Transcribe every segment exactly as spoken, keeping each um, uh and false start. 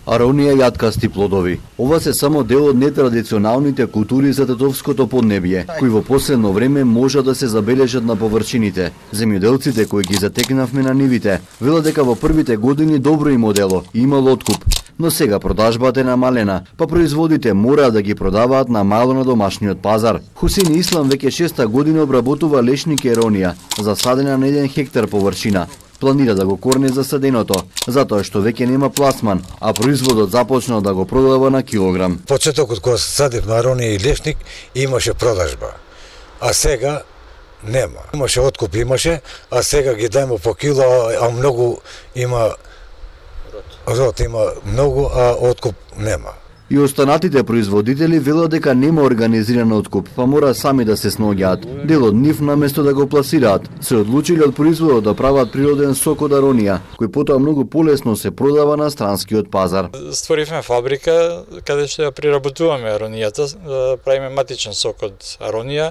Аронија јаткасти плодови. Ова се само дел од нетрадиционалните култури за тетовското поднебје, кои во последно време може да се забележат на површините. Земјоделците кои ги затекнавме на нивите, велат дека во првите години добро им одело и имало откуп. Но сега продажбата е намалена, па производите мора да ги продаваат на мало на домашниот пазар. Хусеин Ислам веќе шеста година обработува лешник еронија, засадена на еден хектар површина. Планира да го корне засаденото, затоа што веќе нема пласман, а производот започнал да го продава на килограм. Почетокот кога садив на еронија и лешник имаше продажба, а сега нема. Имаше откуп, имаше, а сега ги дајме по кило, а многу има род, има многу, а откуп нема. И останатите производители велат дека нема организиран откуп, па мора сами да се сноѓаат. Дел од нив наместо да го пласираат, се одлучиле од производот да прават природен сок од аронија, кој потоа многу полесно се продава на странскиот пазар. Створивме фабрика каде што ја приработуваме аронијата, правиме матичен сок од аронија.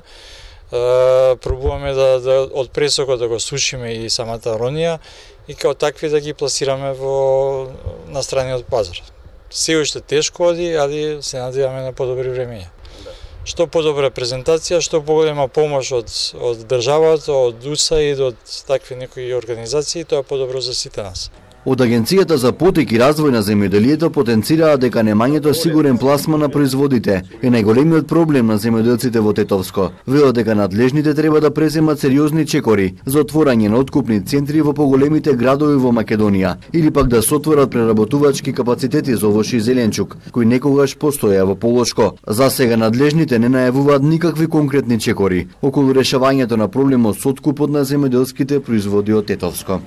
Пробуваме да, да од пресокот да го сушиме и самата аронија и као такви да ги пласираме во на страниот пазар. Се уште тешко оди, али се надеваме на подобри времења. Што подобра презентација, што поголема помош од, од државата, од УСАИД, од такви некои организации, тоа е подобро за сите нас. Од Агенцијата за потик и развој на земјоделието потенцираа дека немањето сигурен пласман на производите е најголемиот проблем на земјоделците во Тетовско. Велат дека надлежните треба да преземат сериозни чекори за отворање на откупни центри во поголемите градови во Македонија или пак да се отворат преработувачки капацитети за овош и зеленчук, кои некогаш постоја во Полошко. За сега надлежните не најавуваат никакви конкретни чекори околу решавањето на проблемот со откупот на земјоделските производи од Тетовско.